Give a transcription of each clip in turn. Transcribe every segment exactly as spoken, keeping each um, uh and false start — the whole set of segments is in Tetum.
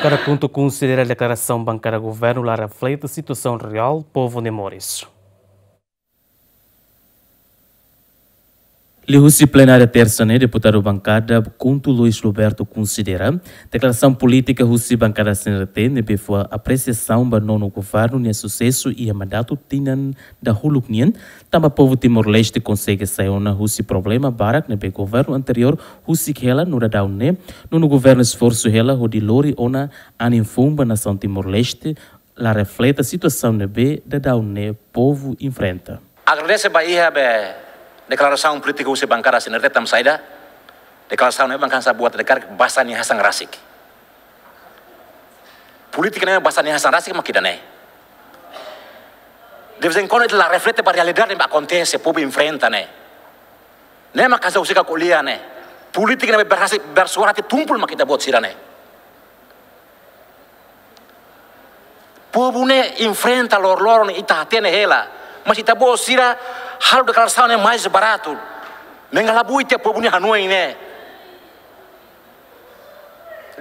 Kada KHUNTO konsidera deklarasaun bankada governu la reflete situasaun reál povu nia moris. Liuhusi plenária tersa ne'e, deputadu bankada KHUNTO Luis Roberto konsidera deklarasaun polítika husi bankada C N R T ne'ebé fó apresiasaun ba nonu governu nia susesu iha mandatu tinan dahuluk nian, tanba povu Timor-Leste konsege sai ona husi problema barak ne'ebé governu anteriór husik hela no daudaun ne'e nonu governu esforsu hela hodi lori ona anin foun ba nasaun Timor-Leste, la reflete situasaun ne'ebé daudaun ne'e povu enfrenta. Agradese ba iha be deklarasaun polítika husi bankada C N R T tanba saida, deklarasaun ne'e bankada sa buat dekar basa nia hasan rasik. Polítika ne'e basa nia hasan rasik mak ida-ne'e. De vez em quando ita la reflete ba realidade ne'ebé akontese, povu enfrenta ne'e. Ne'e mak ha'u husik ko'alia ne'e. Polítika ne'ebé berhasil, bersuara hati tumpul mak ita-boot sira ne'e. Povu ne'e enfrenta loroloron ne'e ita hatene hela. Mas ita-boot sira halo deklarasaun ne'e mais baratu. Mengalabui tiha povu nia hanoin ne'e.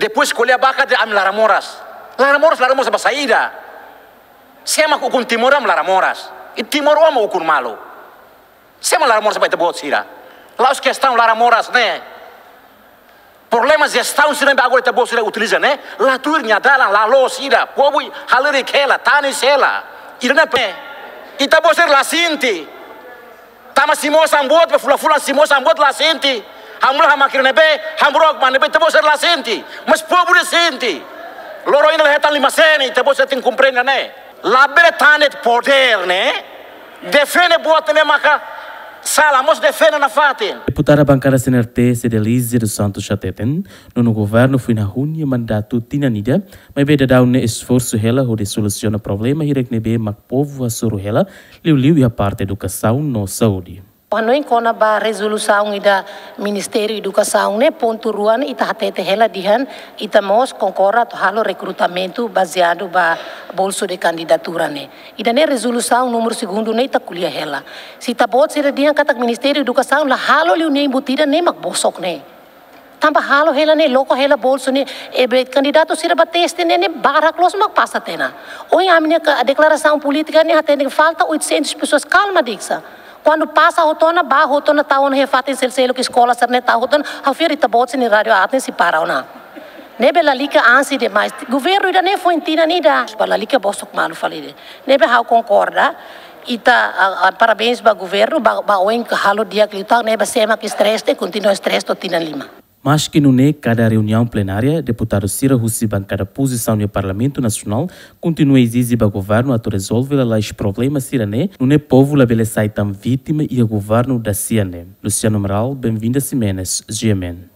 Depois ko'alia bakat dehan ami laran moras. Laran moras, laran moras ba saida? Sé mak ukun Timor ami laran moras? I timoroan mak ukun malu. Sé mak laran moras ba ita-boot sira? La'ós kestaun laran moras ne'e. Problema jestaun sira ne'ebé agora ita-boot sira utiliza ne'e, la tuir nia dalan, la loos ida, povu halerik hela, tanis hela. Ida-ne'e pe, ita-boot sira la sente. Tama simu sambut, be fulan-fulan simu sambut la sente. Hamula hamak ne'ebé, hamburok mak ne'ebé, ita-boot sira la sente. Mas povu ne'e sente. Loron ida la hetan lima sen, ita-boot sira tenke komprende ne'e. Labele tan de'it podér ne'e, defende buat ne'e maka sala, mós defende nafatin. Deputada bankada C N R T Cedelizia dos Santos hateten, nonu governu foin hahú nia mandatu tinan ida, maibé daudaun ne'e esforsu hela hodi solusiona problema hirak ne'ebé mak povu hasoru hela, liuliu iha parte edukasaun no saúde. Hanoin kona-ba rezolusaun ida Ministériu Edukasaun ne'e, pontu rua ne'e ita hatete hela dehan ita mós konkorda atu halo rekrutamentu bazeadu ba bolsu de kandidatura ne'e. Ida-ne'e rezolusaun númeru segundu ne'e ita ko'alia hela. Se ita-boot sira dehan katak Ministériu Edukasaun la halo liu nia inbutida ne'e mak bosok ne'e. Tanba halo hela ne'e, loke hela bolsu ne'e, ne'ebé kandidatu sira ba teste ne'e, ne'e barak loos mak pasa tiha ona. Ohin ami-nia ka-, deklarasaun polítika ne'e hateten falta oitocentas pessoas, kalma diksa. Kuandu pasa hotu ona, bá hotu ona, tau ona iha fatin seluk-seluk, eskola sira-ne'e tau hotu ona, ha'u fiar ita-boot sira-nia rádiu aat ne'e sei para ona. Ne'ebé lalika ansi demais. Governu ida-ne'e foin tinan ida. Ba lalika bosok malu fali de'it. Ne'ebé ha'u konkorda, ita, a, a, parabéns ba governu, ba, ba oin ke halo di'ak liután, ne'ebé sé mak stress de'it, kontinua stress to'o tinan lima. Maski nune'e, kada reuniaun plenária, deputadu sira husi bankada pozisaun iha Parlamentu Nasionál kontinua ezije ba governu atu rezolve lalais problema sira-ne'e, nune'e povu labele sai tan vítima iha governu dasia ne'e. Luciano Amaral, Benvinda Ximenes, G M N.